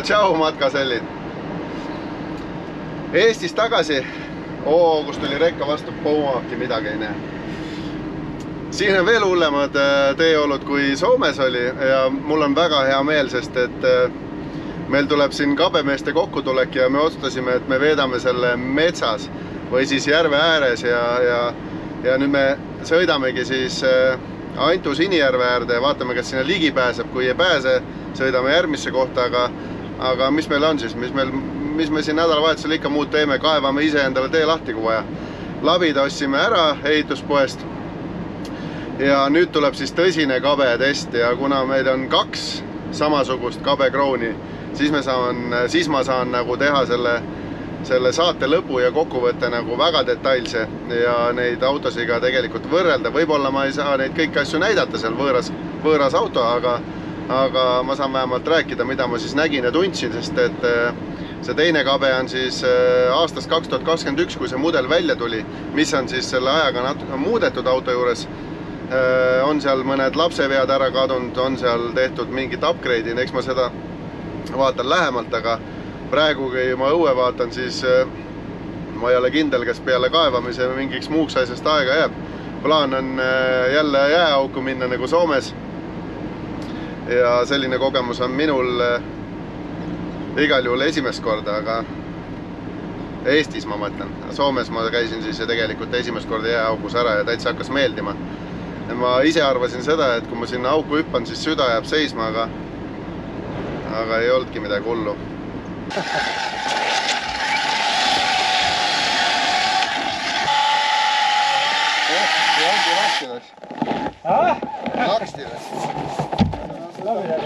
Tšau matkasellid. Eestis tagasi. Kus tuli rekka vastu poomaki, midagi ei näe. Siin on veel hullemad teeolud kui Soomes oli ja mul on väga hea meel, sest et meil tuleb siin kabemeeste kokkutulek ja me otsustasime, et me veedame selle metsas või siis järve ääres ja nüüd me sõidamegi siis Antu Sinijärve äärde ja vaatame, kas sinna ligi pääseb. Kui ei pääse, sõidame järgmisse kohta, aga mis meil on siis? Mis me siin nädalavahetusel ikka muud teeme? Kaevame ise endale tee lahti, kui vaja. Labid ostsime ära ehituspoest ja nüüd tuleb siis tõsine kabe test ja kuna meil on 2 samasugust kabekrooni, siis ma saan nagu teha selle saate lõpu ja kokkuvõtte nagu väga detailse ja neid autosiga tegelikult võrrelda. Võib-olla ma ei saa neid kõiki asju näidata seal võõras auto, aga ma saan vähemalt rääkida, mida ma siis nägin ja tundsin, sest et see teine kabe on siis aastast 2021, kui see mudel välja tuli, mis on siis selle ajaga natuke muudetud auto juures. On seal mõned lapsevead ära kadunud, on seal tehtud mingit upgrade'i, eks ma seda vaatan lähemalt, aga praegu, kui ma õue vaatan, siis ma ei ole kindel, kas peale kaevamise mingiks muuks asjast aega jääb. Plaan on jälle jääauku minna nagu Soomes ja selline kogemus on minul igal juhul esimest korda, aga Eestis ma mõtlen. Soomes ma käisin siis tegelikult esimest korda jääaukus ära ja täitsa hakkas meeldima. Ma ise arvasin seda, et kui ma sinna auku hüppan, siis süda jääb seisma, aga ei olnudki midagi hullu. Lakstides.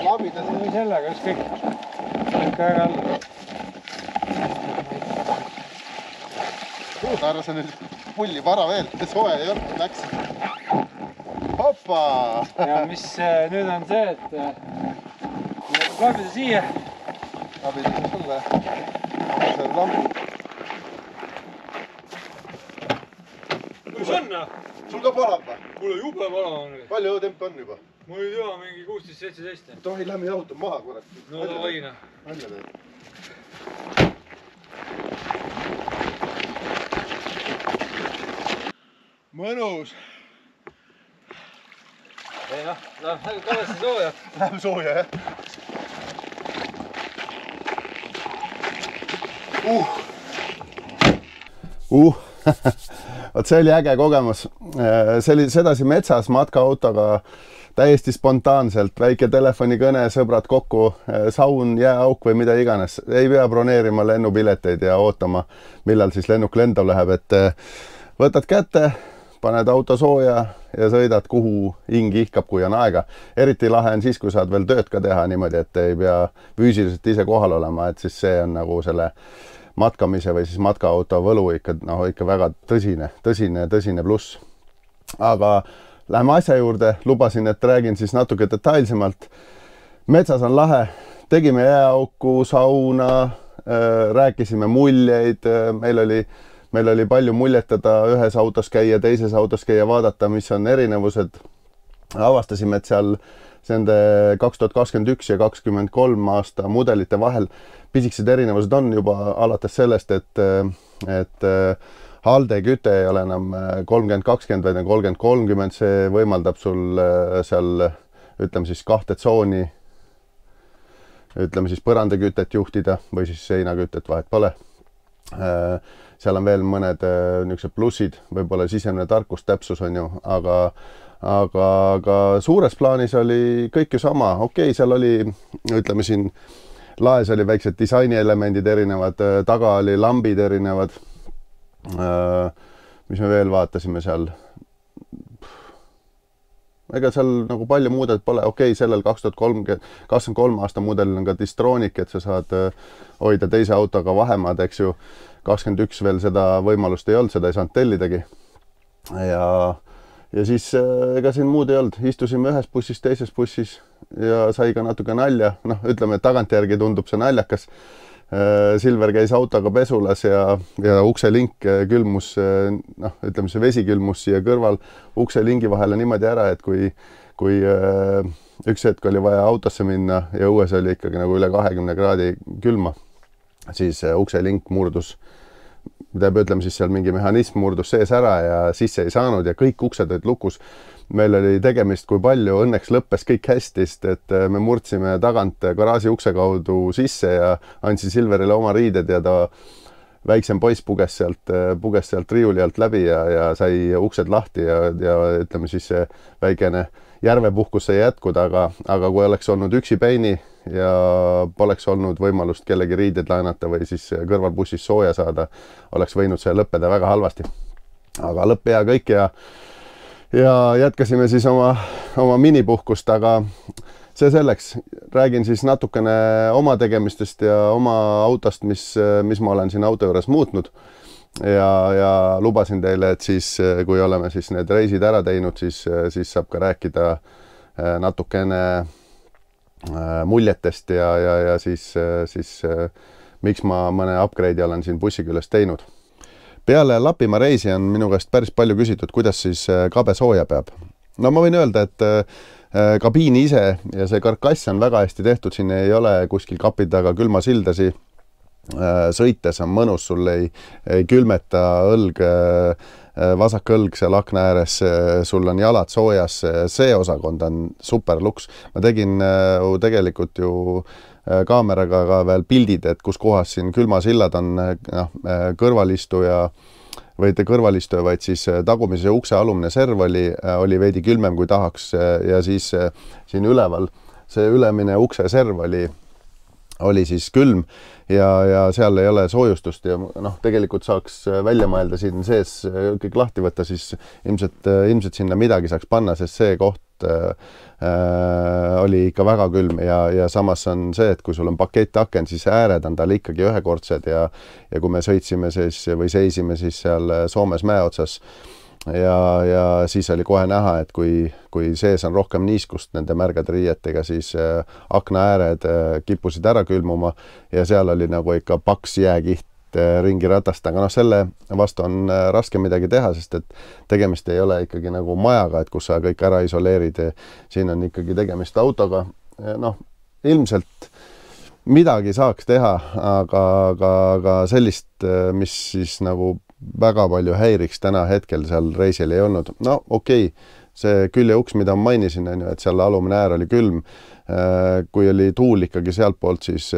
Labides või sellega, kõik ära alla. Arva sa nüüd pulli vara veel, soe ei olnud, läks. Hoppa! Ja mis nüüd on see, et labida siia. Labida sulle. See on lamp. Kus on? Sul ka palab või? Mulle jube pala on nüüd. Palju õutemp on juba? Mul ei tea, mingi 16-17. Tohi lähme auto maha, kurat. No davai. Välja teed. Mõnus. Ei noh, läheb kavasti sooja. Läheb sooja, jah. Vaat see oli äge kogemus. See oli sedasi metsas matkaautoga täiesti spontaanselt. Väike telefonikõne, sõbrad kokku, saun, jääauk või mida iganes. Ei pea broneerima lennupileteid ja ootama, millal siis lennuk lendav läheb. Et võtad kätte, paned auto sooja ja sõidad, kuhu hing ihkab, kui on aega. Eriti lahe on siis, kui saad veel tööd ka teha niimoodi, et ei pea füüsiliselt ise kohal olema, et siis see on nagu selle matkamise või siis matkaauto võlu ikka väga tõsine pluss. Aga läheme asja juurde, lubasin, et räägin siis natuke detailsemalt. Metsas on lahe, tegime jääauku, sauna, rääkisime muljeid, meil oli palju muljetada, ühes autos käia, teises autos käia, vaadata, mis on erinevused. Avastasime, et seal nende 2021 ja 2023 aasta mudelite vahel pisikesed erinevused on juba alates sellest, et halde küte ei ole enam 30-20, vaid 30-30, see võimaldab sul seal, ütleme siis 2 tsooni, ütleme siis põrandakütet juhtida või siis seinakütet, vahet pole. Seal on veel mõned niisugused plussid, võib-olla sisemine tarkus, täpsus on ju, aga suures plaanis oli kõik ju sama. Okei, seal oli, ütleme siin, laes oli väiksed disainielemendid erinevad, taga oli lambid erinevad. Mis me veel vaatasime seal? Ega seal nagu palju muudet pole. Okei, sellel 2023 aasta mudelil on ka distroonik, et sa saad hoida teise autoga vahemaad, eks ju. 21 veel seda võimalust ei olnud, seda ei saanud tellidagi. Ja siis ega siin muud ei olnud. Istusime ühes bussis, teises bussis ja sai ka natuke nalja. Noh, ütleme, et tagantjärgi tundub see naljakas. Silver käis autoga pesulas ja ukselink külmus, noh, ütleme see vesi külmus siia kõrval ukselingi vahele niimoodi ära, et kui üks hetk oli vaja autosse minna ja õues oli ikkagi nagu üle 20 kraadi külma, siis ukselink murdus, tähendab, ütleme siis seal mingi mehhanism murdus sees ära ja sisse ei saanud ja kõik uksed olid lukus. Meil oli tegemist, kui palju, õnneks lõppes kõik hästi, et me murdsime tagant garaaži ukse kaudu sisse ja andsin Silverile oma riided ja ta väiksem poiss puges sealt riiuli alt läbi ja sai uksed lahti ja ütleme siis see väikene järvepuhkus sai jätkuda, aga kui oleks olnud üksi Peini ja poleks olnud võimalust kellegi riided laenata või siis kõrvalbussis sooja saada, oleks võinud see lõppeda väga halvasti. Aga lõpp hea kõik ja jätkasime siis oma minipuhkust, aga see selleks. Räägin siis natukene oma tegemistest ja oma autost, mis ma olen siin auto juures muutnud ja lubasin teile, et siis kui oleme siis need reisid ära teinud, siis saab ka rääkida natukene muljetest ja siis miks ma mõne upgrade'i olen siin Bussikülas teinud. Peale Lapimaa reisi on minu käest päris palju küsitud, kuidas siis kabe sooja peab. No ma võin öelda, et kabiini ise ja see karkass on väga hästi tehtud, siin ei ole kuskil kapi taga külmasildasi. Sõites on mõnus, sul ei külmeta õlg, vasak õlg seal akna ääres, sul on jalad soojas, see osakond on super luks. Ma tegin tegelikult ju kaameraga ka veel pildid, et kus kohas siin külmasillad on kõrvalistuja, vaid siis tagumise ukse alumine serv oli veidi külmem kui tahaks ja siis siin üleval see ülemine ukse serv oli siis külm ja seal ei ole soojustust ja tegelikult saaks välja mõelda siin sees kõik lahti võtta, siis ilmselt sinna midagi saaks panna, sest see koht oli ikka väga külm ja samas on see, et kui sul on pakettaken, siis ääred on tal ikkagi ühekordsed ja kui me sõitsime seisime siis seal Soomes mäe otsas ja siis oli kohe näha, et kui sees on rohkem niiskust nende märgade riietega, siis akna ääred kippusid ära külmuma ja seal oli nagu ikka paks jääkiht ringi ratast, aga selle vastu on raske midagi teha, sest et tegemist ei ole ikkagi nagu majaga, et kus sa kõik ära isoleerid. Siin on ikkagi tegemist autoga. Ilmselt midagi saaks teha, aga sellist, mis siis nagu väga palju häiriks täna hetkel seal reisil ei olnud. Okei, see küljeuks, mida ma mainisin, on ju, et seal alumine äär oli külm. Kui oli tuul ikkagi sealt poolt, siis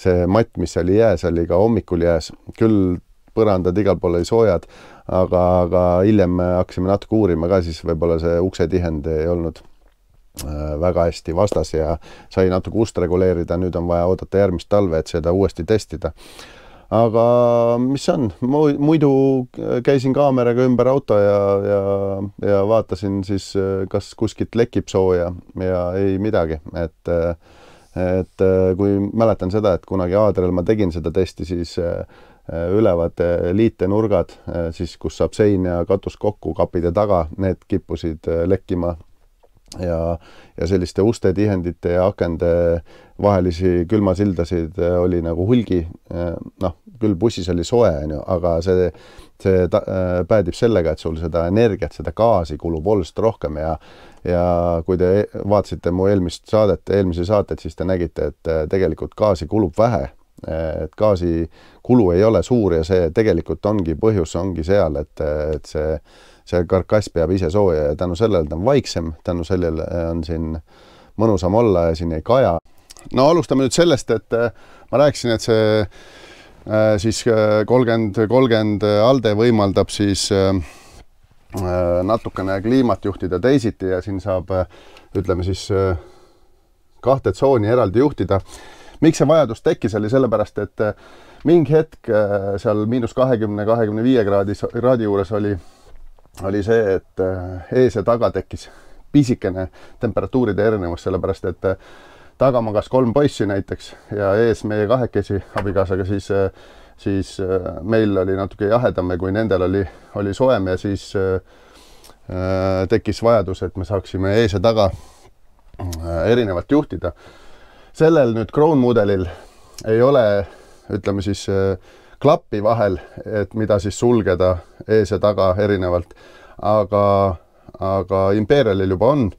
see matt, mis oli jääs, oli ka hommikul jääs. Küll põrandad igal pool oli soojad, aga hiljem hakkasime natuke uurima ka, siis võib-olla see uksetihend ei olnud väga hästi vastas ja sai natuke ust reguleerida. Nüüd on vaja oodata järgmist talve, et seda uuesti testida. Aga mis on? Muidu käisin kaameraga ümber auto ja vaatasin siis, kas kuskilt lekib sooja ja ei midagi. Et kui mäletan seda, et kunagi Aadrel ma tegin seda testi, siis ülevad liitenurgad, siis kus saab sein ja katus kokku kapide taga, need kippusid lekkima ja selliste uste tihendite ja akende vahelisi külmasildasid oli nagu hulgi. Küll bussis oli soe, aga see päädib sellega, et sul seda energiat, seda gaasi kulub oluliselt rohkem ja kui te vaatasite mu eelmise saatet, siis te nägite, et tegelikult gaasi kulub vähe. Et gaasi kulu ei ole suur ja see tegelikult põhjus ongi seal, et see karkass peab ise sooja ja tänu sellele ta on vaiksem, tänu sellele on siin mõnusam olla ja siin ei kaja. Alustame nüüd sellest, et ma rääkisin, et see siis 30 ALDE võimaldab siis natukene kliimat juhtida teisiti ja siin saab, ütleme siis, 2 tsooni eraldi juhtida. Miks see vajadus tekkis, oli sellepärast, et mingi hetk seal -20–25 kraadi juures oli see, et ees ja taga tekkis pisikene temperatuuride erinevus, sellepärast, et taga magas 3 poissi näiteks ja ees meie kahekesi abikaasaga, siis meil oli natuke jahedam ja kui nendel oli soem ja siis tekkis vajadus, et me saaksime ees ja taga erinevalt juhtida. Sellel nüüd Crown mudelil ei ole, ütleme siis, klappi vahel, et mida siis sulgeda ees ja taga erinevalt, aga Imperialil juba on.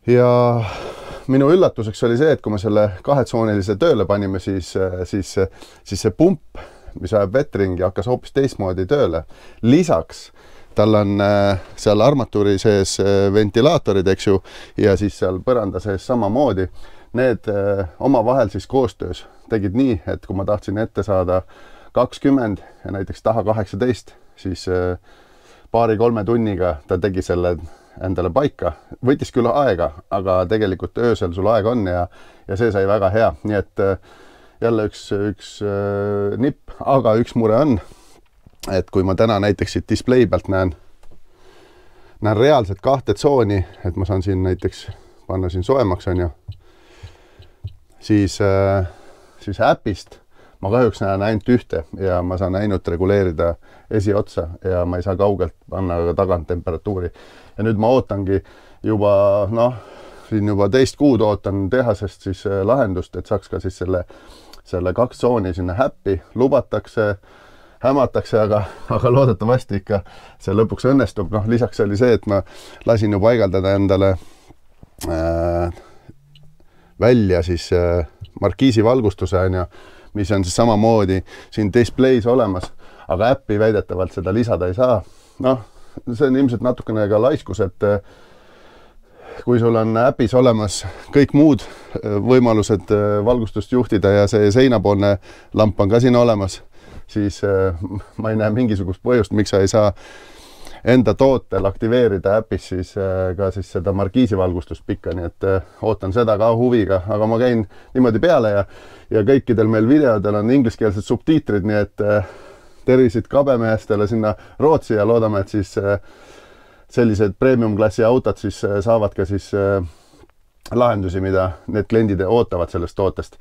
ja minu üllatuseks oli see, et kui me selle kahetsoonilise tööle panime, siis see pump, mis ajab vettringi, hakkas hoopis teistmoodi tööle. Lisaks tal on seal armatuuri sees ventilaatorid, eks ju, ja siis seal põranda sees samamoodi. Need omavahel siis koostöös tegid nii, et kui ma tahtsin ette saada 20 ja näiteks taha 18, siis paari-kolme tunniga ta tegi selle endale paika. Võttis küll aega, aga tegelikult öösel sul aega on ja see sai väga hea. Nii et jälle üks nipp, aga üks mure on, et kui ma täna näiteks siit display pealt näen reaalselt 2 tsooni, et ma saan siin näiteks panna siin soemaks, on ju, siis äpist ma kahjuks näen ainult ühte ja ma saan ainult reguleerida esiotsa ja ma ei saa kaugelt panna ka tagant temperatuuri. Ja nüüd ma ootangi juba, siin juba 2 kuud ootan tehasest siis lahendust, et saaks ka siis selle 2 tsooni sinna häppi, lubatakse, hämatakse, aga loodetavasti ikka see lõpuks õnnestub. Lisaks oli see, et ma lasin ju paigaldada endale välja siis markiisi valgustuse, on ju, mis on siis samamoodi siin displays olemas, aga äppi väidetavalt seda lisada ei saa. See on ilmselt natukene ka laiskus, et kui sul on äpis olemas kõik muud võimalused valgustust juhtida ja see seinapoolne lamp on ka siin olemas, siis ma ei näe mingisugust põhjust, miks sa ei saa enda tootel aktiveerida äpis siis ka siis seda markiisivalgustust pikka, nii et ootan seda ka huviga, aga ma käin niimoodi peale ja kõikidel meil videodel on ingliskeelsed subtiitrid, nii et tervisid kabemeestele sinna Rootsi ja loodame, et siis sellised premium-klassi autod siis saavad ka siis lahendusi, mida need kliendid ootavad sellest tootest.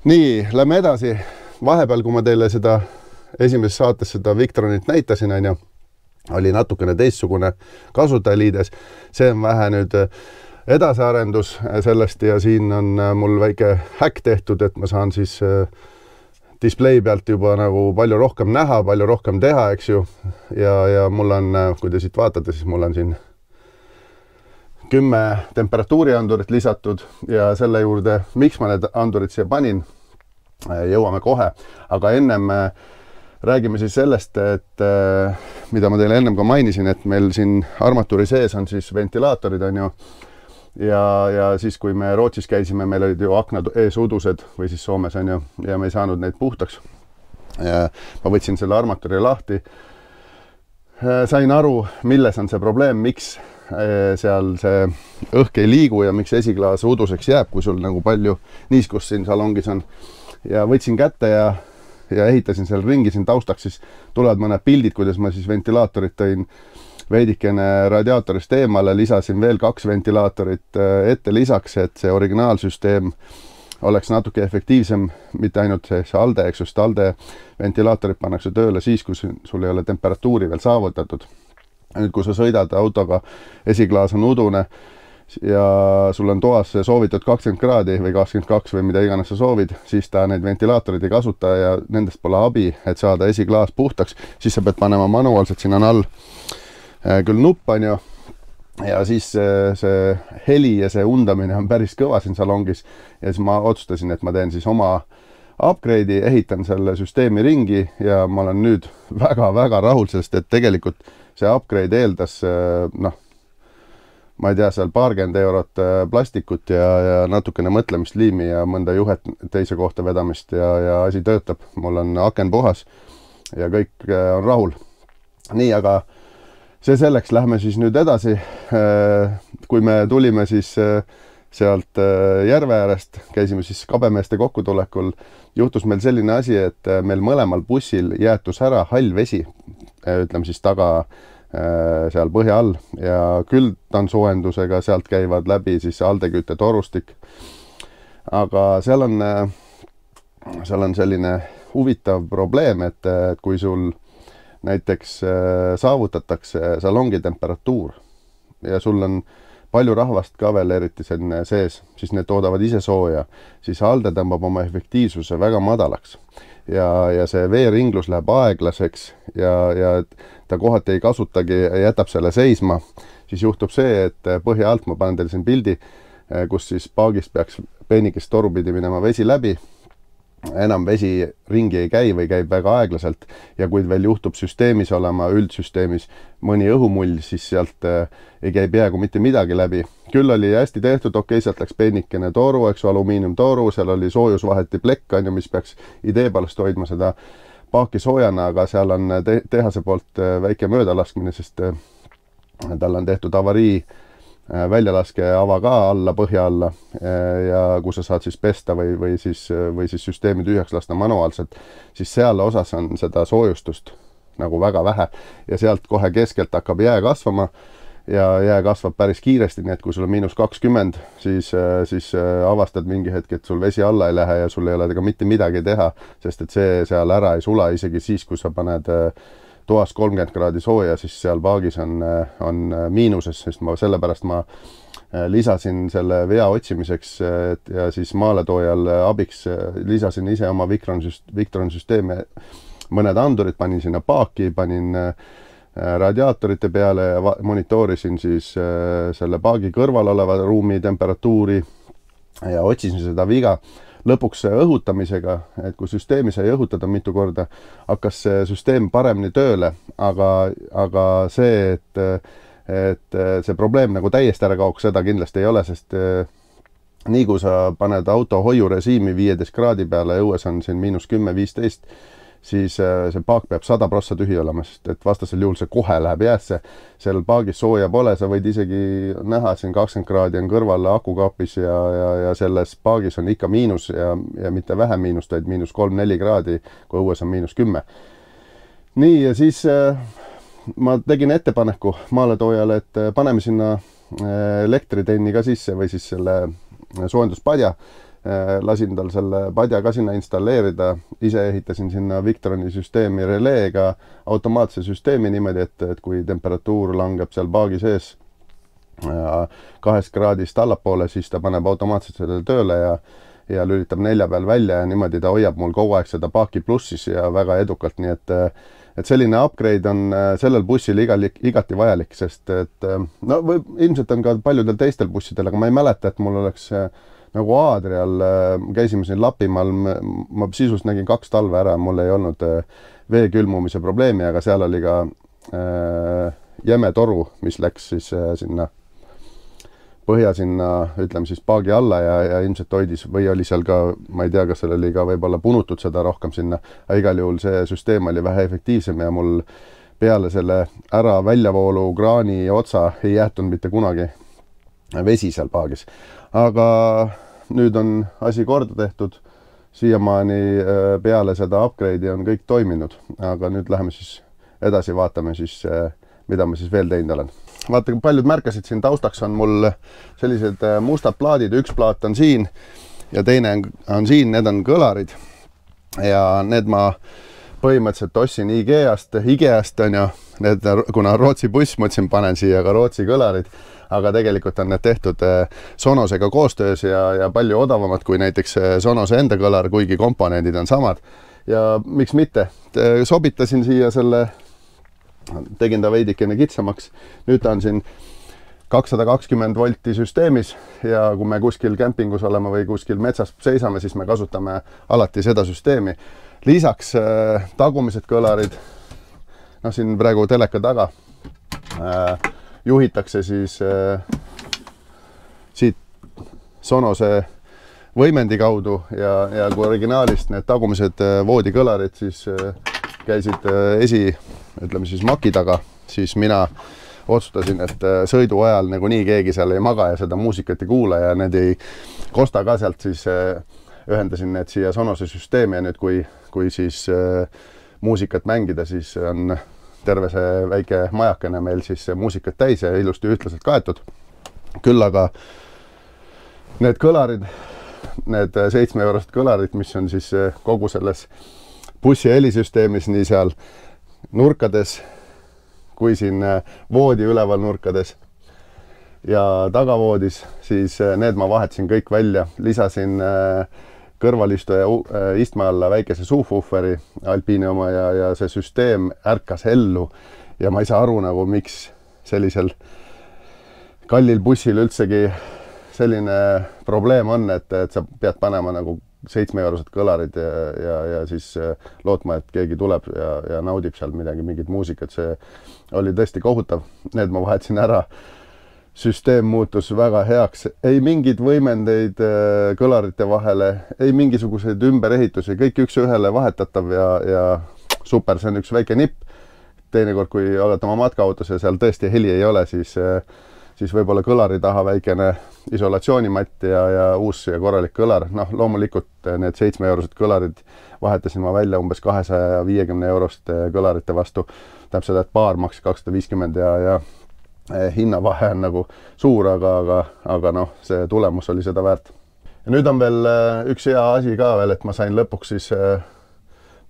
Nii, lähme edasi. Vahepeal, kui ma teile seda esimeses saates seda Victronit näitasin, on ju, oli natukene teistsugune kasutajaliides. See on vähe nüüd edasiarendus sellest ja siin on mul väike häkk tehtud, et ma saan siis display pealt juba nagu palju rohkem näha, palju rohkem teha, eks ju. Ja mul on, kui te siit vaatate, siis mul on siin 10 temperatuuriandurit lisatud ja selle juurde, miks ma need andurid siia panin, jõuame kohe. Aga ennem räägime siis sellest, et mida ma teile ennem ka mainisin, et meil siin armatuuri sees on siis ventilaatorid, on ju. Ja siis, kui me Rootsis käisime, meil olid ju aknad ees udused või siis Soomes, on ju, ja me ei saanud neid puhtaks. Ja ma võtsin selle armatuuri lahti. Sain aru, milles on see probleem, miks seal see õhk ei liigu ja miks esiklaas uduseks jääb, kui sul nagu palju niiskust siin salongis on. Ja võtsin kätte ja ehitasin seal ringi siin taustaks, siis tulevad mõned pildid, kuidas ma siis ventilaatorit tõin veidikene radiaatorist eemale, lisasin veel 2 ventilaatorit ette lisaks, et see originaalsüsteem oleks natuke efektiivsem, mitte ainult see ALDE, eks just ALDE ventilaatorid pannakse tööle siis, kui sul ei ole temperatuuri veel saavutatud. Nüüd, kui sa sõidad autoga, esiklaas on udune ja sul on toas soovitud 20 kraadi või 22 või mida iganes sa soovid, siis ta neid ventilaatorid ei kasuta ja nendest pole abi, et saada esiklaas puhtaks, siis sa pead panema manuaalselt, siin on all küll nupp, on ju, ja siis see heli ja see undamine on päris kõva siin salongis ja siis ma otsustasin, et ma teen siis oma upgrade'i, ehitan selle süsteemi ringi ja ma olen nüüd väga-väga rahul, sest et tegelikult see upgrade eeldas, ma ei tea, seal paarkümmend eurot plastikut ja natukene mõtlemisliimi ja mõnda juhet teise kohta vedamist ja asi töötab. Mul on aken puhas ja kõik on rahul. Nii, aga see selleks, lähme siis nüüd edasi. Kui me tulime siis sealt järve äärest, käisime siis kabemeeste kokkutulekul, juhtus meil selline asi, et meil mõlemal bussil jäätus ära hall vesi, ütleme siis taga seal põhja all ja küldtansoojendusega sealt käivad läbi siis aldekütte torustik. Aga seal on selline huvitav probleem, et kui sul näiteks saavutatakse salongi temperatuur ja sul on palju rahvast ka veel eriti sees, siis need toodavad ise sooja, siis ALDE tõmbab oma efektiivsuse väga madalaks ja see veeringlus läheb aeglaseks ja ta kohati ei kasutagi, jätab selle seisma, siis juhtub see, et põhja alt ma panen teile siin pildi, kus siis paagist peaks peenikest toru pidi minema vesi läbi. Enam vesi ringi ei käi või käib väga aeglaselt ja kui veel juhtub süsteemis olema, üldsüsteemis mõni õhumull, siis sealt ei käi peaaegu mitte midagi läbi. Küll oli hästi tehtud, okei, sealt läks peenikene toru, eks alumiiniumtoru, seal oli soojusvaheti plekk, mis peaks idee palast hoidma seda paaki soojana, aga seal on tehase poolt väike möödalaskmine, sest tal on tehtud avarii väljalaske ava ka alla, põhja alla ja kus sa saad siis pesta või siis süsteemi tühjaks lasta manuaalselt, siis seal osas on seda soojustust nagu väga vähe ja sealt kohe keskelt hakkab jää kasvama ja jää kasvab päris kiiresti, nii et kui sul on -20, siis avastad mingi hetk, et sul vesi alla ei lähe ja sul ei ole ka mitte midagi teha, sest et see seal ära ei sula isegi siis, kui sa paned toas 30 kraadi sooja, siis seal paagis on miinuses, sest sellepärast ma lisasin selle vea otsimiseks ja siis maaletoojal abiks lisasin ise oma Victron süsteemi mõned andurid, panin sinna paaki, panin radiaatorite peale ja monitoorisin siis selle paagi kõrval oleva ruumi temperatuuri ja otsisin seda viga. Lõpuks õhutamisega, et kui süsteemi sai õhutada mitu korda, hakkas see süsteem paremini tööle, aga see, et see probleem nagu täiesti ära kaoks, seda kindlasti ei ole, sest nii kui sa paned auto hoiurežiimi 15 kraadi peale, õues on siin -10-15, siis see paak peab 100% tühi olema, sest et vastasel juhul see kohe läheb jäässe. Seal paagis sooja pole, sa võid isegi näha, siin 20 kraadi on kõrval akukaapis ja selles paagis on ikka miinus ja mitte vähem miinust, vaid -3-4 kraadi, kui õues on -10. Nii, ja siis ma tegin ettepaneku maaletoojale, et paneme sinna elektritenni ka sisse või siis selle soojenduspadja. Lasin tal selle padja ka sinna installeerida, ise ehitasin sinna Victroni süsteemi releega automaatse süsteemi niimoodi, et kui temperatuur langeb seal paagi sees 2 kraadist allapoole, siis ta paneb automaatselt selle tööle ja lülitab 4 peal välja ja niimoodi ta hoiab mul kogu aeg seda paaki plussis ja väga edukalt, nii et selline upgrade on sellel bussil igati vajalik, sest et no ilmselt on ka paljudel teistel bussidel, aga ma ei mäleta, et mul oleks nagu Aadrial, käisime siin Lapimaal, ma sisust nägin 2 talve ära, mul ei olnud vee külmumise probleemi, aga seal oli ka jäme toru, mis läks siis sinna põhja sinna, ütleme siis paagi alla ja ilmselt hoidis või oli seal ka, ma ei tea, kas seal oli ka võib-olla punutud seda rohkem sinna, aga igal juhul see süsteem oli vähe efektiivsem ja mul peale selle ära väljavoolu kraani otsa ei jäetud mitte kunagi vesi seal paagis. Aga nüüd on asi korda tehtud, siiamaani peale seda upgrade'i on kõik toiminud, aga nüüd läheme siis edasi, vaatame siis, mida ma siis veel teinud olen. Vaata, kui paljud märkasid siin taustaks on mul sellised mustad plaadid, üks plaat on siin ja teine on siin, need on kõlarid ja need ma põhimõtteliselt ostsin IGEAst on ju, need, kuna Rootsi buss, mõtlesin, panen siia ka Rootsi kõlarid, aga tegelikult on need tehtud Sonosega koostöös ja palju odavamad kui näiteks Sonose enda kõlar, kuigi komponendid on samad. Ja miks mitte? Sobitasin siia selle, tegin ta veidikene kitsamaks. Nüüd ta on siin 220 volti süsteemis ja kui me kuskil kämpingus oleme või kuskil metsas seisame, siis me kasutame alati seda süsteemi. Lisaks tagumised kõlarid, no siin praegu teleka taga, juhitakse siis siit Sonose võimendi kaudu ja kui originaalist need tagumised voodikõlarid siis käisid ütleme siis maki taga, siis mina otsustasin, et sõidu ajal nagu nii keegi seal ei maga ja seda muusikat ei kuula ja need ei kosta ka sealt, siis ühendasin need siia Sonose süsteemi ja nüüd kui siis muusikat mängida, siis on terve see väike majakene meil siis muusikat täis ja ilusti ühtlaselt kaetud. Küll aga need kõlarid, need 7-eurosed kõlarid, mis on siis kogu selles bussi helisüsteemis, nii seal nurkades kui siin voodi üleval nurkades ja tagavoodis, siis need ma vahetasin kõik välja, lisasin kõrvalistuja istme alla väikese subwooferi Alpini oma ja see süsteem ärkas ellu ja ma ei saa aru nagu, miks sellisel kallil bussil üldsegi selline probleem on, et sa pead panema nagu 7-eurosed kõlarid ja siis lootma, et keegi tuleb ja naudib seal mingit muusikat. See oli tõesti kohutav. Need ma vahetasin ära. Süsteem muutus väga heaks. Ei mingid võimendeid kõlarite vahele, ei mingisuguseid ümberehitusi, kõik üks ühele vahetatav ja super, see on üks väike nipp. Teinekord, kui oled oma matkaautos ja seal tõesti heli ei ole, siis võib-olla kõlari taha väikene isolatsioonimatt ja uus ja korralik kõlar. Noh, loomulikult need 7-eurosed kõlarid vahetasin ma välja umbes 250 eurost kõlarite vastu. Tähendab seda, et paar maksis 250 ja hinnavahe on nagu suur, aga noh, see tulemus oli seda väärt. Ja nüüd on veel üks hea asi ka veel, et ma sain lõpuks siis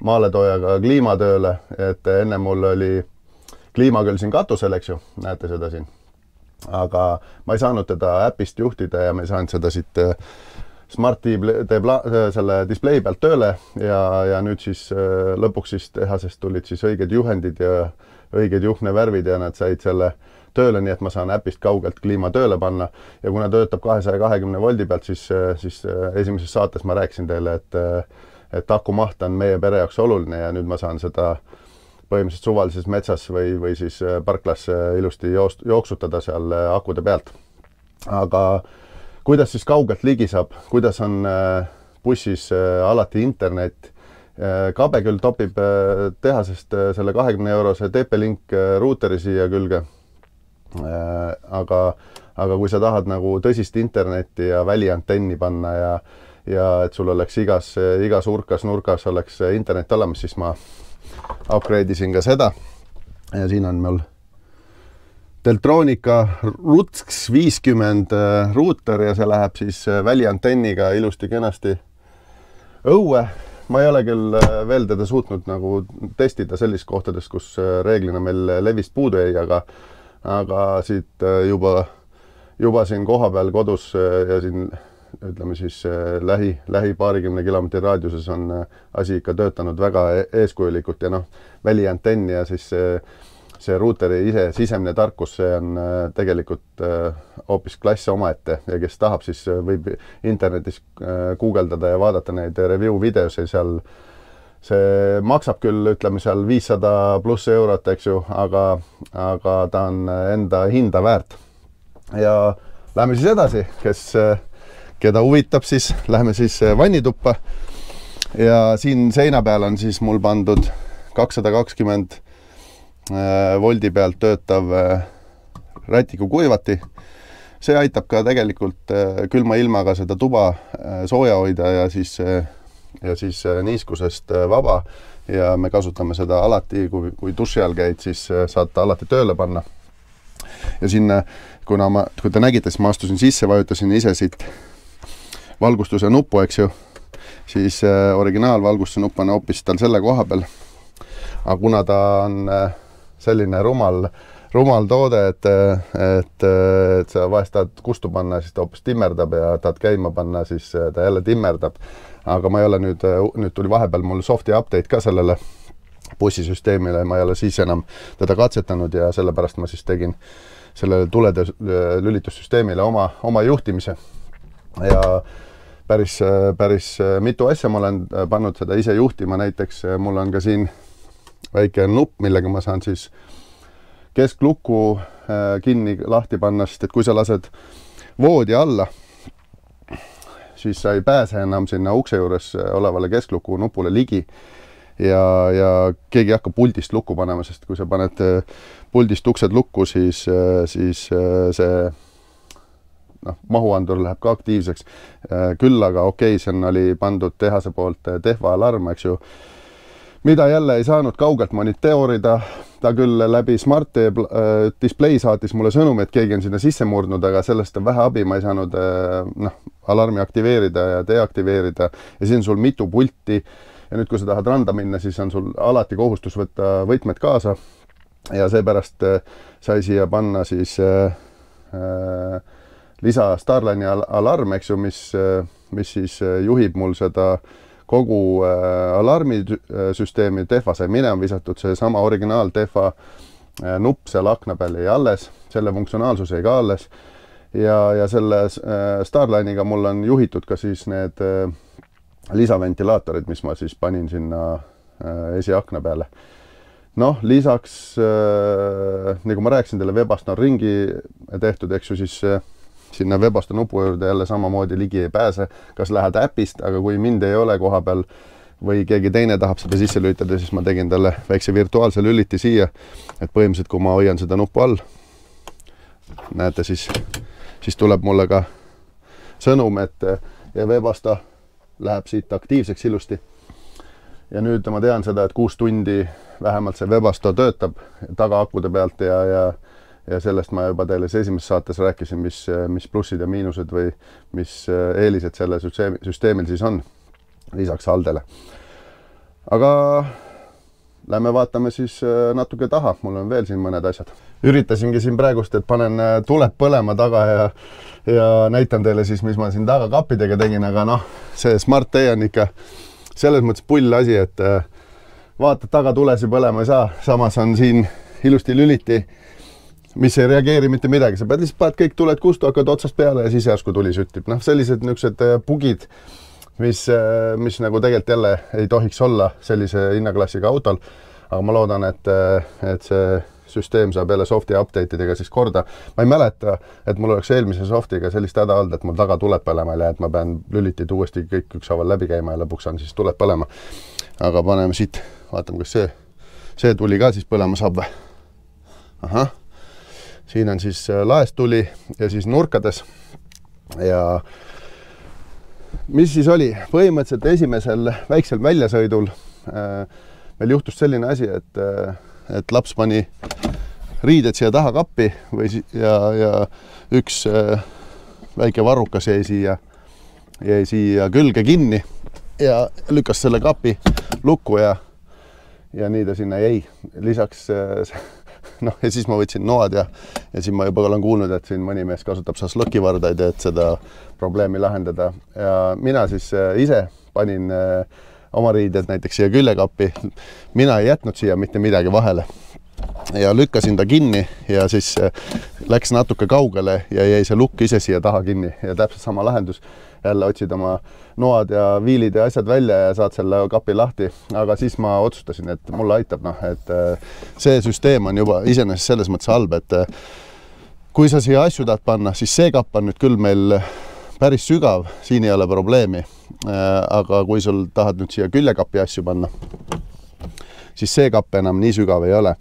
maaletoojaga kliimatööle, et enne mul oli kliima küll siin katusel, eks ju, näete seda siin. Aga ma ei saanud teda äpist juhtida ja ma ei saanud seda siit Smart selle display pealt tööle ja nüüd siis lõpuks siis tehasest tulid siis õiged juhendid ja õiged juhnevärvid ja nad said selle tööle, nii et ma saan äpist kaugelt kliima tööle panna ja kuna töötab 220 voldi pealt, siis esimeses saates ma rääkisin teile, et akumaht on meie pere jaoks oluline ja nüüd ma saan seda põhimõtteliselt suvalises metsas või siis parklas ilusti jooksutada seal akude pealt. Aga kuidas siis kaugelt ligi saab, kuidas on bussis alati internet? Kabe küll topib tehasest selle 20-eurose TP-Link ruuteri siia külge. Aga kui sa tahad nagu tõsist internetti ja väliantenni panna ja et sul oleks igas urkas, nurkas oleks internet olemas, siis ma upgrade'isin ka seda ja siin on mul Deltronika RUTX 50 ruuter ja see läheb siis väliantenniga ilusti kenasti õue. Ma ei ole küll veel teda suutnud nagu testida sellis kohtades, kus reeglina meil levist puudu ei, aga siit juba siin koha peal kodus ja siin ütleme siis lähi paarikümne kilomeetri raadiuses on asi ikka töötanud väga eeskujulikult ja noh, väliantenn ja siis see ruuteri sisemine tarkus, see on tegelikult hoopis klass omaette ja kes tahab, siis võib internetis guugeldada ja vaadata neid review videosi seal. See maksab küll, ütleme seal 500 pluss eurot, eks ju, aga ta on enda hinda väärt. Ja lähme siis edasi, keda huvitab, siis lähme siis vannituppa ja siin seina peal on siis mul pandud 220 voldi pealt töötav rätikukuivati. See aitab ka tegelikult külma ilmaga seda tuba sooja hoida ja siis niiskusest vaba ja me kasutame seda alati, kui duši all käid, siis saad ta alati tööle panna. Ja sinna, kui te nägite, siis ma astusin sisse, vajutasin ise siit valgustuse nuppu, eks ju, siis originaalvalgustuse nupp on hoopis tal selle koha peal. Aga kuna ta on selline rumal toode, et sa vahest tahad kustu panna, siis ta hoopis timmerdab ja tahad käima panna, siis ta jälle timmerdab. Aga ma ei ole nüüd tuli vahepeal mul softi update ka sellele bussisüsteemile, ma ei ole siis enam teda katsetanud ja sellepärast ma siis tegin sellele tulede lülitussüsteemile oma juhtimise. Ja päris mitu asja ma olen pannud seda ise juhtima, näiteks mul on ka siin väike nupp, millega ma saan siis kesklukku kinni lahti panna, sest et kui sa lased voodi alla, siis sa ei pääse enam sinna ukse juures olevale keskluku nupule ligi ja keegi hakkab puldist lukku panema, sest kui sa paned puldist uksed lukku, siis see mahuandur läheb ka aktiivseks. Küll aga okei, sen oli pandud tehase poolt tehva alarm, eks ju, mida jälle ei saanud kaugelt monitoorida. Ta küll läbi Smart display saatis mulle sõnumi, et keegi on sinna sisse murdnud, aga sellest on vähe abi. Ma ei saanud alarmi aktiveerida ja deaktiveerida ja siin on sul mitu pulti ja nüüd, kui sa tahad randa minna, siis on sul alati kohustus võtta võtmed kaasa ja seepärast sai siia panna siis lisa Starline'i alarm, eks ju, mis siis juhib mul seda kogu alarmisüsteemi. Tehva sai minema visatud, see sama originaal Tehva nupp seal akna peal jäi alles, selle funktsionaalsus jäi ka alles ja selle Starline'iga mul on juhitud ka siis need lisaventilaatorid, mis ma siis panin sinna esiakna peale. Noh, lisaks, nagu ma rääkisin teile, Webasto on ringi tehtud, eks ju, siis sinna Webasto nupu juurde jälle samamoodi ligi ei pääse, kas lähed äpist, aga kui mind ei ole koha peal või keegi teine tahab seda sisse lülitada, siis ma tegin talle väikse virtuaalse lüliti siia, et põhimõtteliselt, kui ma hoian seda nupu all, näete, siis tuleb mulle ka sõnum, et Webasto läheb siit aktiivseks ilusti. Ja nüüd ma tean seda, et 6 tundi vähemalt see Webasto töötab tagaakude pealt ja sellest ma juba teile esimeses saates rääkisin, mis plussid ja miinused või mis eelised selle süsteemil siis on lisaks Aldele. Aga lähme vaatame siis natuke taha, mul on veel siin mõned asjad. Üritasingi siin praegust, et panen tuled põlema taga ja näitan teile siis, mis ma siin taga kappidega tegin, aga noh, see Smart Day on ikka selles mõttes pull asi, et vaatad taga tulesi põlema ei saa, samas on siin ilusti lüliti, mis ei reageeri mitte midagi, sa pead lihtsalt paned kõik tuled kustu, hakkad otsast peale ja siis järsku tuli süttib. Noh, sellised niisugused bugid, mis nagu tegelikult jälle ei tohiks olla sellise hinnaklassiga autol, aga ma loodan, et see süsteem saab jälle softi update'idega siis korda. Ma ei mäleta, et mul oleks eelmise softiga sellist häda olnud, et mul taga tuleb põlema ja et ma pean lülitid uuesti kõik ükshaaval läbi käima ja lõpuks on siis tuleb põlema. Aga paneme siit, vaatame, kas see tuli ka siis põlema saab või. Ahah, siin on siis laest tuli ja siis nurkades ja mis siis oli? Põhimõtteliselt esimesel väiksel väljasõidul meil juhtus selline asi, et laps pani riided siia taha kappi ja üks väike varrukas jäi siia külge kinni ja lükkas selle kapi lukku ja nii ta sinna jäi. Lisaks noh, ja siis ma võtsin noad ja siis ma juba olen kuulnud, et siin mõni mees kasutab šašlõkivardaid, et seda probleemi lahendada. Ja mina siis ise panin oma riided näiteks siia küljekappi. Mina ei jätnud siia mitte midagi vahele ja lükkasin ta kinni ja siis läks natuke kaugele ja jäi see lukk ise siia taha kinni ja täpselt sama lahendus. Jälle otsid oma noad ja viilid ja asjad välja ja saad selle kapi lahti. Aga siis ma otsustasin, et mulle aitab, et see süsteem on juba iseenesest selles mõttes halb, et kui sa siia asju tahad panna, siis see kapp on nüüd küll meil päris sügav, siin ei ole probleemi. Aga kui sul tahad nüüd siia küljekapi asju panna, siis see kapp enam nii sügav ei ole.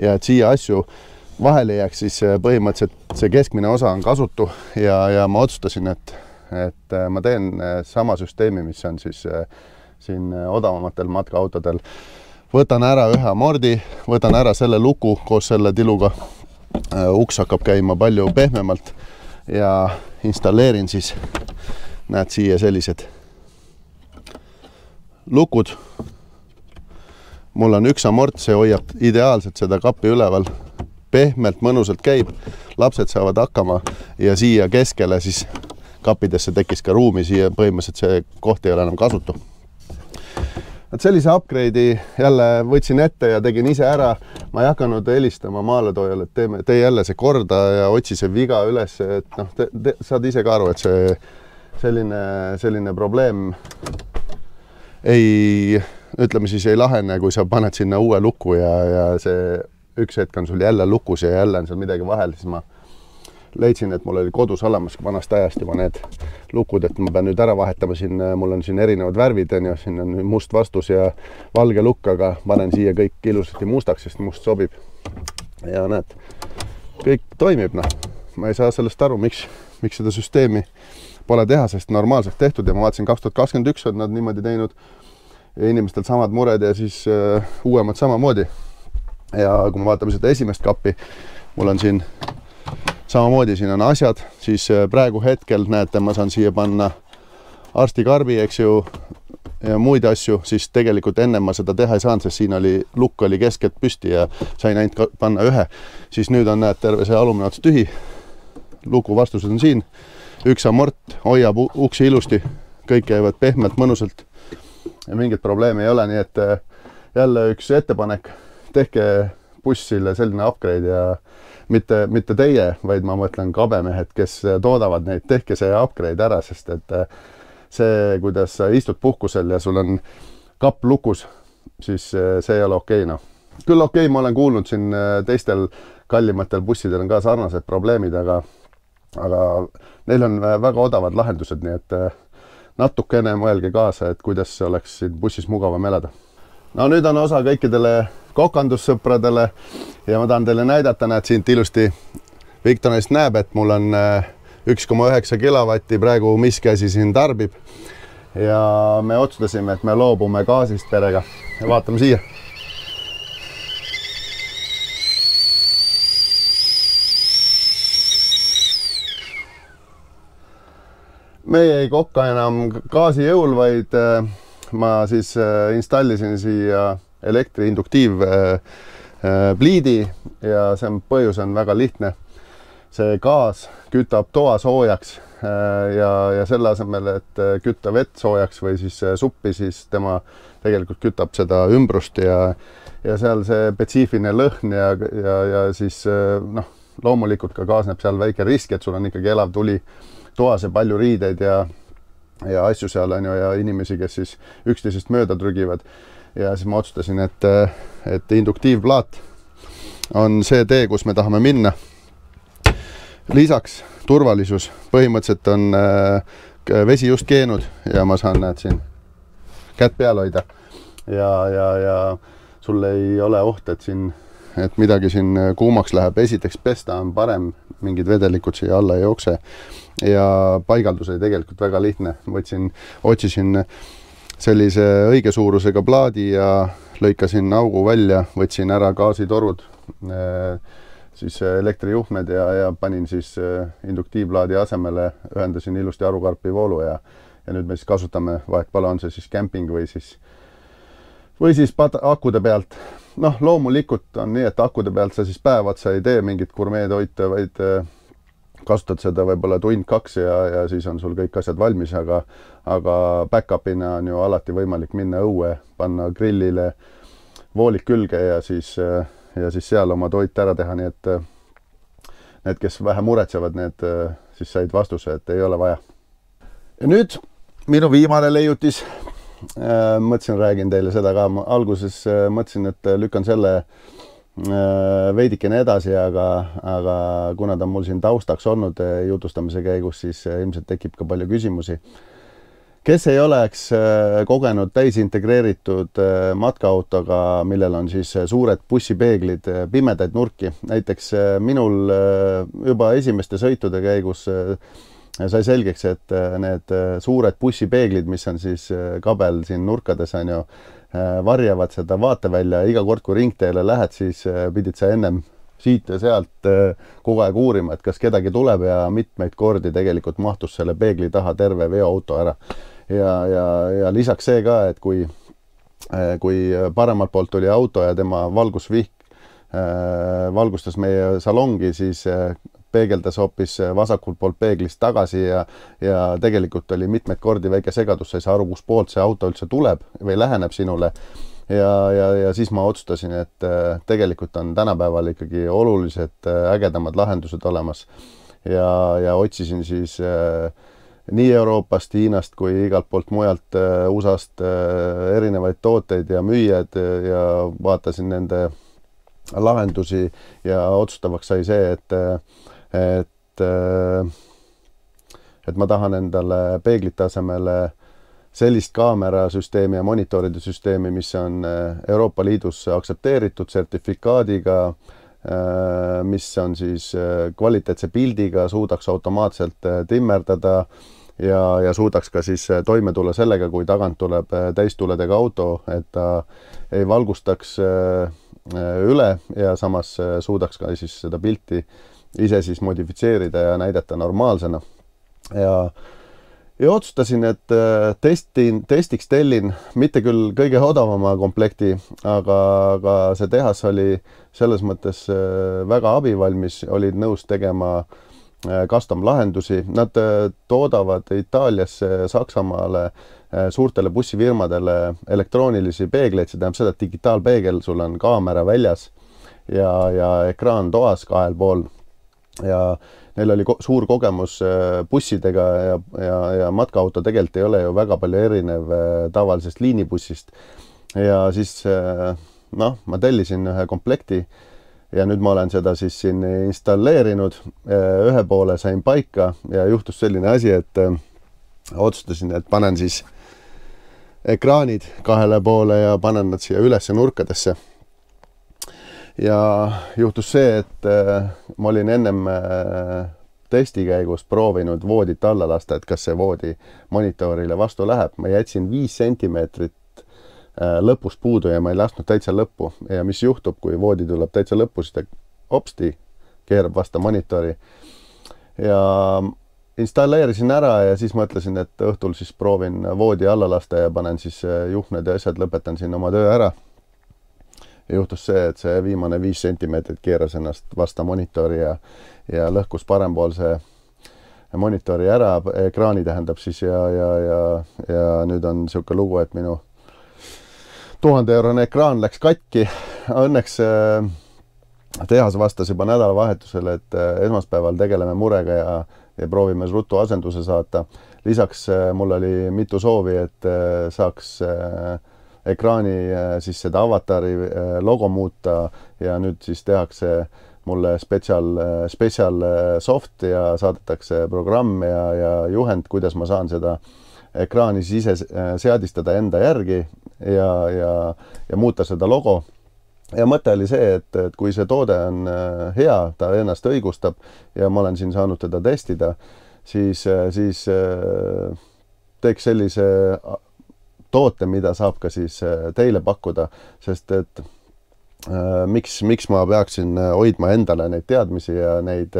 Ja et siia asju vahele jääks, siis põhimõtteliselt see keskmine osa on kasutu ja ma otsustasin, et ma teen sama süsteemi, mis on siis siin odavamatel matkaautodel. Võtan ära ühe amordi, võtan ära selle luku koos selle tiluga. Uks hakkab käima palju pehmemalt ja installeerin siis, näed siia sellised lukud. Mul on üks amort, see hoiab ideaalselt seda kappi üleval. Pehmelt, mõnusalt käib, lapsed saavad hakkama ja siia keskele siis kappidesse tekkis ka ruumi, siia põhimõtteliselt see koht ei ole enam kasutu. Et sellise upgrade'i jälle võtsin ette ja tegin ise ära. Ma ei hakanud helistama maaletoojale, et tee jälle see korda ja otsi see viga üles, et noh, saad ise ka aru, et see selline probleem ütleme siis ei lahene, kui sa paned sinna uue luku ja see üks hetk on sul jälle lukus ja jälle on seal midagi vahel, siis ma leidsin, et mul oli kodus olemas vanast ajast juba need lukud, et ma pean nüüd ära vahetama siin, mul on siin erinevad värvid, siin on must vastus ja valge lukk, aga panen siia kõik ilusasti mustaks, sest must sobib. Ja näed, kõik toimib, ma ei saa sellest aru, miks seda süsteemi pole teha, sest normaalselt tehtud ja ma vaatasin 2021 on nad niimoodi teinud ja inimestel samad mured ja siis uuemad samamoodi. Ja kui me vaatame seda esimest kappi, mul on siin samamoodi, siin on asjad, siis praegu hetkel näete, ma saan siia panna arstikarbi, eks ju, ja muid asju, siis tegelikult enne ma seda teha ei saanud, sest siin lukk oli keskelt püsti ja sain ainult panna ühe. Siis nüüd on, näed, terve see alumine ots tühi, luku vastused on siin, üks amort hoiab uksi ilusti, kõik käivad pehmelt, mõnusalt ja mingit probleemi ei ole, nii et jälle üks ettepanek, tehke bussile selline upgrade ja mitte teie, vaid ma mõtlen kabemehed, kes toodavad neid, tehke see upgrade ära, sest et see, kuidas sa istud puhkusel ja sul on kapp lukus, siis see ei ole okei, noh. Küll okei, ma olen kuulnud siin teistel kallimatel bussidel on ka sarnased probleemid, aga neil on väga odavad lahendused, nii et natukene mõelge kaasa, et kuidas oleks siin bussis mugavam elada. No nüüd on osa kõikidele kokandussõpradele ja ma tahan teile näidata, näed siit ilusti Victorist näeb, et mul on 1,9 kilovatti praegu miski asi siin tarbib ja me otsustasime, et me loobume gaasist perega ja vaatame siia. Meie ei kokka enam gaasi jõul, vaid ma siis installisin siia elektriinduktiivpliidi ja see põhjus on väga lihtne. See gaas kütab toa soojaks ja selle asemel, et kütta vett soojaks või siis suppi, siis tema tegelikult kütab seda ümbrust ja seal see spetsiifiline lõhn ja siis noh, loomulikult ka kaasneb seal väike risk, et sul on ikkagi elav tuli toas ja palju riideid ja asju seal on ju ja inimesi, kes siis üksteisest mööda trügivad. Ja siis ma otsustasin, et induktiivplaat on see tee, kus me tahame minna. Lisaks turvalisus. Põhimõtteliselt on vesi just keenud ja ma saan näed siin kätt peal hoida. Ja sul ei ole oht, et midagi siin kuumaks läheb. Esiteks pesta on parem, mingid vedelikud siia alla ei jookse. Ja paigaldus oli tegelikult väga lihtne. Otsisin sellise õige suurusega plaadi ja lõikasin augu välja, võtsin ära gaasitorud, siis elektrijuhtmed ja panin siis induktiivplaadi asemele, ühendasin ilusti arukarpi voolu ja nüüd me siis kasutame vahetpala on see siis camping või siis akude pealt. Noh, loomulikult on nii, et akude pealt sa siis päev otsa ei tee mingit gurmeetoite, vaid kasutad seda võib-olla tund-kaks ja siis on sul kõik asjad valmis, aga back-upina on ju alati võimalik minna õue, panna grillile voolik külge ja siis seal oma toit ära teha, nii et need, kes vähe muretsevad, need siis said vastuse, et ei ole vaja. Ja nüüd minu viimane leiutis, mõtlesin, räägin teile seda ka, alguses mõtlesin, et lükkan selle veidikene edasi, aga kuna ta on mul siin taustaks olnud jutustamise käigus, siis ilmselt tekib ka palju küsimusi. Kes ei oleks kogenud täisintegreeritud matkaautoga, millel on siis suured bussipeeglid, pimedaid nurki. Näiteks minul juba esimeste sõitude käigus sai selgeks, et need suured bussipeeglid, mis on siis kabel siin nurkades on ju, varjavad seda vaatevälja ja iga kord, kui ringteele lähed, siis pidid sa ennem siit ja sealt kogu aeg uurima, et kas kedagi tuleb ja mitmeid kordi tegelikult mahtus selle peegli taha terve veoauto ära. Ja lisaks see ka, et kui paremalt poolt tuli auto ja tema valgusvihk valgustas meie salongi, siis peegeldas hoopis vasakult poolt peeglist tagasi ja tegelikult oli mitmeid kordi väike segadus, sa ei saa aru, kus poolt see auto üldse tuleb või läheneb sinule. Ja siis ma otsustasin, et tegelikult on tänapäeval ikkagi olulised ägedamad lahendused olemas ja otsisin siis nii Euroopast, Hiinast kui igalt poolt mujalt USAst erinevaid tooteid ja müüjad ja vaatasin nende lahendusi ja otsustavaks sai see, et ma tahan endale peeglite asemele sellist kaamerasüsteemi ja monitoride süsteemi, mis on Euroopa Liidus aktsepteeritud sertifikaadiga, mis on siis kvaliteetse pildiga, suudaks automaatselt timmerdada ja suudaks ka siis toime tulla sellega, kui tagant tuleb täistuledega auto, et ta ei valgustaks üle ja samas suudaks ka siis seda pilti ise siis modifitseerida ja näidata normaalsena. Ja otsustasin, et testiks tellin mitte küll kõige odavama komplekti, aga see tehas oli selles mõttes väga abivalmis, olid nõus tegema custom lahendusi. Nad toodavad Itaaliasse, Saksamaale, suurtele bussifirmadele elektroonilisi peegleid, see tähendab seda, et digitaalpeegel, sul on kaamera väljas ja ekraan toas 2 pool ja neil oli suur kogemus bussidega ja matkaauto tegelikult ei ole ju väga palju erinev tavalisest liinibussist. Ja siis ma tellisin ühe komplekti ja nüüd ma olen seda siis siin installeerinud. Ühe poole sain paika ja juhtus selline asi, et otsustasin, et panen siis ekraanid 2 poole ja panen nad siia üles nurkadesse. Ja juhtus see, et ma olin ennem testi käigus proovinud voodit alla lasta, et kas see voodi monitoorile vastu läheb. Ma jätsin 5 sentimeetrit lõpust puudu ja ma ei lasknud täitsa lõppu. Ja mis juhtub, kui voodi tuleb täitsa lõppu, siis ta hopsti keerab vastu monitori. Ja installeerisin ära ja siis mõtlesin, et õhtul siis proovin voodi alla lasta ja panen siis juhned ja asjad, lõpetan siin oma töö ära. Ja juhtus see, et see viimane 5 sentimeetrit keeras ennast vasta monitori ja lõhkus parempoolse monitori ära, ekraani tähendab siis ja nüüd on siuke lugu, et minu 1000-eurone ekraan läks katki. Õnneks tehas vastas juba nädalavahetusel, et esmaspäeval tegeleme murega ja proovime ruttu asenduse saata. Lisaks mul oli mitu soovi, et saaks ekraani siis seda avatari logo muuta ja nüüd siis tehakse mulle special soft ja saadetakse programm ja juhend, kuidas ma saan seda ekraani siis ise seadistada enda järgi ja muuta seda logo. Ja mõte oli see, et kui see toode on hea, ta ennast õigustab ja ma olen siin saanud teda testida, siis teeks sellise toote, mida saab ka siis teile pakkuda, sest et miks ma peaksin hoidma endale neid teadmisi ja neid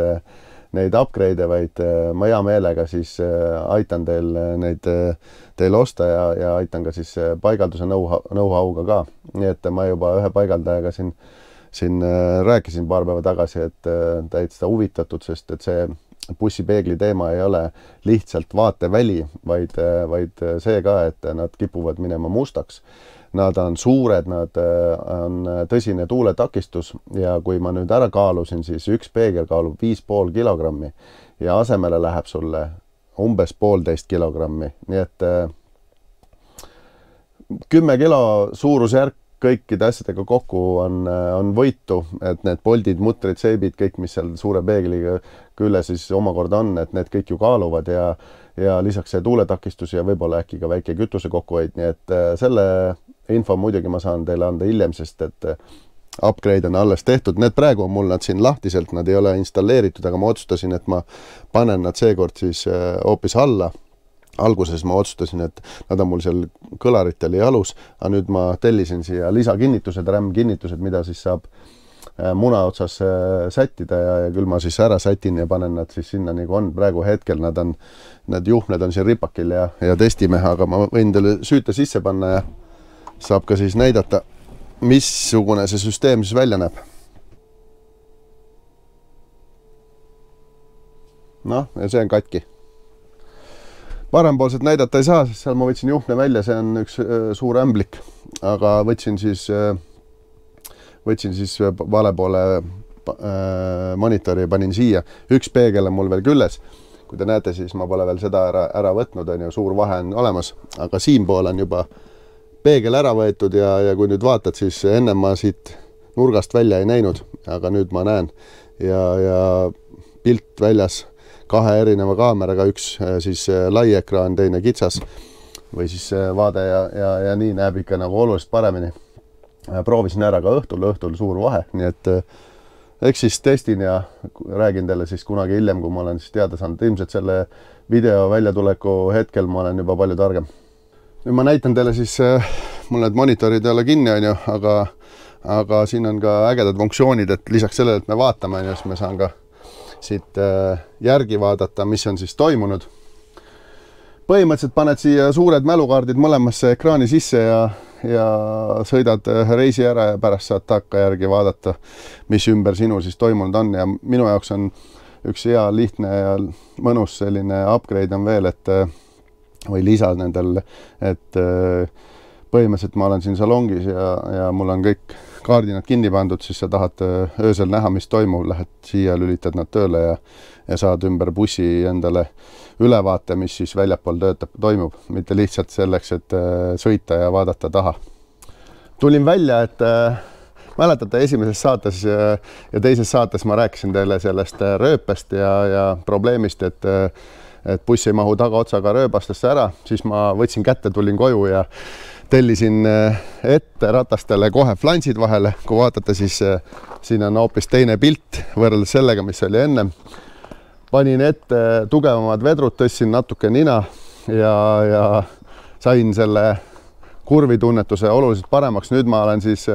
upgrade'e, vaid ma hea meelega siis aitan teil osta ja aitan ka siis paigalduse know-how'ga ka. Nii et ma juba ühe paigaldajaga siin rääkisin paar päeva tagasi, et täitsa huvitatud, sest et see bussipeegli teema ei ole lihtsalt vaateväli, vaid see ka, et nad kipuvad minema mustaks. Nad on suured, nad on tõsine tuuletakistus ja kui ma nüüd ära kaalusin, siis üks peegel kaalub 5,5 kilogrammi ja asemele läheb sulle umbes 1,5 kilogrammi. Nii et 10 kilo suurusjärk kõikide asjadega kokku on võitu, et need poldid, mutrid, seibid, kõik, mis seal suure peegliga külle siis omakorda on, et need kõik ju kaaluvad ja lisaks see tuuletakistus ja võib-olla äkki ka väike kütuse kokkuhoid. Nii et selle info muidugi ma saan teile anda hiljem, sest et upgrade on alles tehtud. Need praegu on mul nad siin lahtiselt, nad ei ole installeeritud, aga ma otsustasin, et ma panen nad seekord siis hoopis alla. Alguses ma otsustasin, et nad on mul seal kõlaritel ja jalus, aga nüüd ma tellisin siia lisakinnitused, RAM-kinnitused, mida siis saab muna otsas sättida ja küll ma siis ära sätin ja panen nad siis sinna nagu on. Praegu hetkel need juhned on siin ripakil ja testime, aga ma võin teile süüte sisse panna ja saab ka siis näidata, missugune see süsteem siis välja näeb. Noh, ja see on katki. Parempoolset näidata ei saa, sest seal ma võtsin juhne välja, see on üks suur ämblik, aga võtsin siis vale poole monitori ja panin siia. Üks peegel on mul veel külles. Kui te näete, siis ma pole veel seda ära võtnud, on ju, suur vahe on olemas, aga siin pool on juba peegel ära võetud ja kui nüüd vaatad, siis enne ma siit nurgast välja ei näinud, aga nüüd ma näen ja pilt väljas 2 erineva kaameraga, üks siis lai ekraan, teine kitsas või siis vaade ja nii näeb ikka nagu oluliselt paremini. Proovisin ära ka õhtul suur vahe, nii et eks siis testin ja räägin teile siis kunagi hiljem, kui ma olen siis teada saanud. Ilmselt selle video väljatuleku hetkel ma olen juba palju targem. Nüüd ma näitan teile siis, mul need monitorid ei ole kinni, on ju, aga siin on ka ägedad funktsioonid, et lisaks sellele, et me vaatame, siis me saan ka siit järgi vaadata, mis on siis toimunud. Põhimõtteliselt paned siia suured mälukaardid mõlemasse ekraani sisse ja sõidad reisi ära ja pärast saad takka järgi vaadata, mis ümber sinu siis toimunud on. Ja minu jaoks on üks hea, lihtne ja mõnus selline upgrade on veel, või lisa nendel, et põhimõtteliselt ma olen siin salongis ja mul on kaardinad kinni pandud, siis sa tahad öösel näha, mis toimub, lähed siia, lülitad nad tööle ja saad ümber bussi endale ülevaate, mis siis väljapool toimub, mitte lihtsalt selleks, et sõita ja vaadata taha. Tulin välja, et mäletate esimeses saates ja teises saates ma rääkisin teile sellest rööpest ja probleemist, et buss ei mahu tagaotsaga rööbastesse ära, siis ma võtsin kätte, tulin koju ja tellisin ette ratastele kohe flansid vahele. Kui vaatate, siis siin on hoopis teine pilt võrreldes sellega, mis oli ennem. Panin ette tugevamad vedrud, tõstsin natuke nina ja sain selle kurvitunnetuse oluliselt paremaks. Nüüd ma olen siis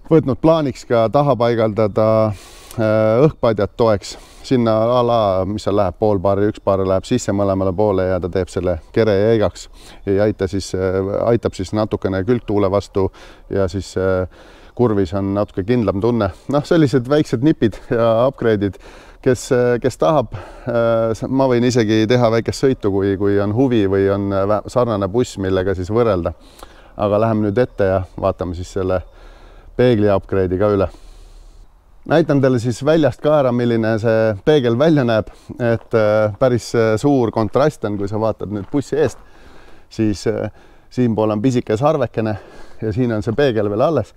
võtnud plaaniks ka taha paigaldada õhkpadjad toeks. Sinna mis seal läheb, pool paari, üks paar läheb sisse mõlemale poole ja ta teeb selle kere jäigaks ja aitab siis natukene külgtuule vastu ja siis kurvis on natuke kindlam tunne. Noh, sellised väiksed nipid ja upgrade'id, kes tahab, ma võin isegi teha väikest sõitu, kui on huvi või on sarnane buss, millega siis võrrelda. Aga läheme nüüd ette ja vaatame siis selle peegli upgrade'i ka üle. Näitan teile siis väljast ka ära, milline see peegel välja näeb, et päris suur kontrast on, kui sa vaatad nüüd bussi eest, siis siinpool on pisike sarvekene ja siin on see peegel veel alles.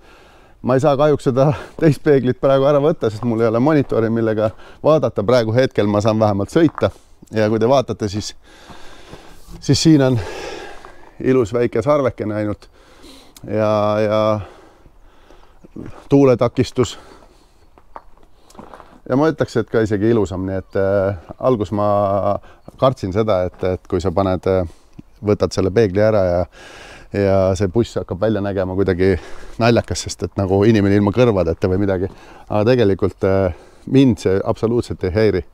Ma ei saa kahjuks seda teist peeglit praegu ära võtta, sest mul ei ole monitori, millega vaadata. Praegu hetkel ma saan vähemalt sõita ja kui te vaatate, siis siin on ilus väike sarvekene ainult ja tuuletakistus. Ja ma ütleks, et ka isegi ilusam, nii et algus ma kartsin seda, et kui sa võtad selle peegli ära ja see buss hakkab välja nägema kuidagi naljakas, sest et nagu inimene ilma kõrvadeta või midagi. Aga tegelikult mind see absoluutselt ei häiri.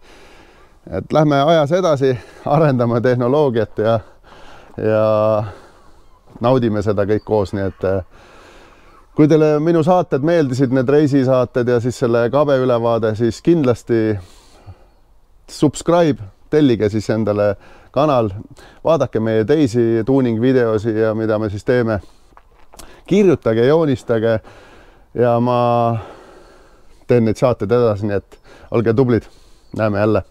Et lähme ajas edasi, arendame tehnoloogiat ja naudime seda kõik koos, nii et kui teile minu saated meeldisid, need reisisaated ja siis selle kabe ülevaade, siis kindlasti subscribe, tellige siis endale kanal, vaadake meie teisi tuuning videosi ja mida me siis teeme. Kirjutage, joonistage ja ma teen neid saated edasi, nii et olge tublid. Näeme jälle.